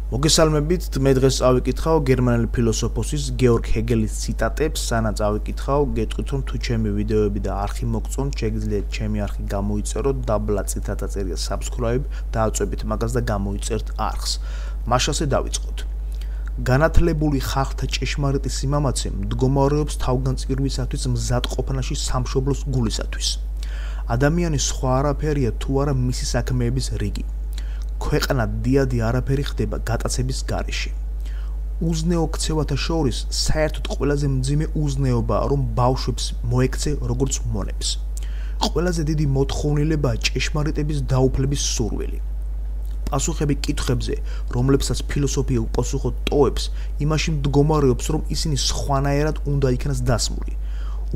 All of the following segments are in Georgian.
მოგესალმებით, მე დღეს წავიკითხავ გერმანელი ფილოსოფოსის გეორგ ჰეგელის ციტატებს, სანამ წავიკითხავ, გეტყვით რომ თუ ჩემი ვიდეოები და არხი მოგწონთ, შეგიძლიათ ჩემი არხი გამოიწეროთ, დაბლა წითელთა წერია subscribe, დააწვევით მაგას და გამოიწერთ არხს. მაშასე დავიწყოთ. განათლებული ხალხთა ჭეშმარიტი სიმამაცე მდგომარეობს თავგანწირვისათვის მზად ყოფნაში სამშობლოს გულისათვის. ადამიანის სხვა არაფერია თუ არა მისი საქმეების რიგი. ქვეყანა დიადი არაფერი ხდება გატაცების გარეშე. უზნეო ქცევათა შორის საერთოდ ყველაზე მძიმე უზნეობაა, რომ ბავშვებს მოექცე როგორც მონებს. ყველაზე დიდი მოთხოვნილებაა ჭეშმარიტების დაუფლების სურვილი. პასუხები კითხვებზე, რომლებსაც ფილოსოფია უპასუხოდ ტოვებს, იმაში მდგომარეობს, რომ ისინი სხვანაირად უნდა იქნას დასმული.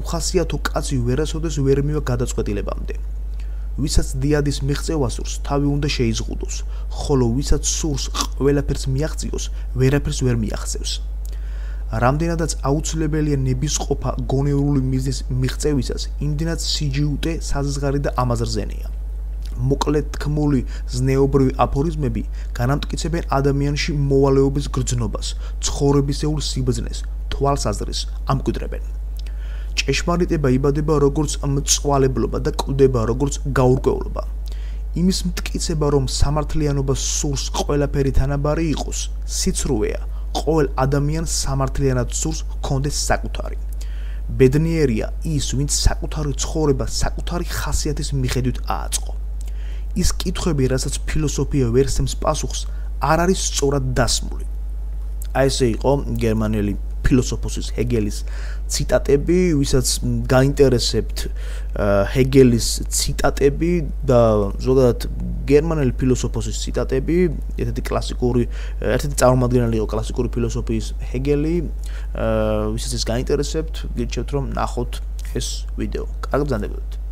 უხასიათო კაცი ვერასოდეს ვერ მივა გადაწყვეტილებამდე. ვისაც დიადის მიღწევა სურს, თავი უნდა შეიზღუდოს, ხოლო ვისაც სურს ყველაფერს მიაღწიოს, ვერაფერს ვერ მიაღწევს. რამდენადაც აუცილებელია ნებისყოფა გონივრული მიზნის მიღწევისას, იმდენად სიჯიუტე, საზღარი და ამაზრზენია. მოკლედ თქმული ზნეობრივი აფორიზმები განამტკიცებენ ადამიანში მოვალეობის გრძნობას, ცხოვრებისეულ სიბრძნეს, თვალსაზრისს ამკვიდრებენ. ჭეშმარიტება იბადება როგორც მწვალებლობა და კვდება როგორც გაურკვევლობა. იმის მტკიცება, რომ სამართლიანობა სურს ყველაფერი თანაბარი იყოს, სიცრუეა, ყოველ ადამიანს სამართლიანად სურს ჰქონდეს საკუთარი. ბედნიერია ის, ვინც საკუთარი ცხოვრება საკუთარი ხასიათის მიხედვით ააწყო. ის კითხვები, რასაც ფილოსოფია ვერ სცემს პასუხს, არ არის სწორად დასმული. აი ესე იყო გერმანელი ფილოსოფოსის ჰეგელის ციტატები, ვისაც გაინტერესებთ ჰეგელის ციტატები და ზოგადად გერმანელი ფილოსოფოსის ციტატები, ერთ-ერთი წარმომადგენელი იყო კლასიკური ფილოსოფიის ჰეგელი, ვისაც ეს გაინტერესებთ, გირჩევთ რომ ნახოთ ეს ვიდეო. კარგად ბრძანდებოდეთ.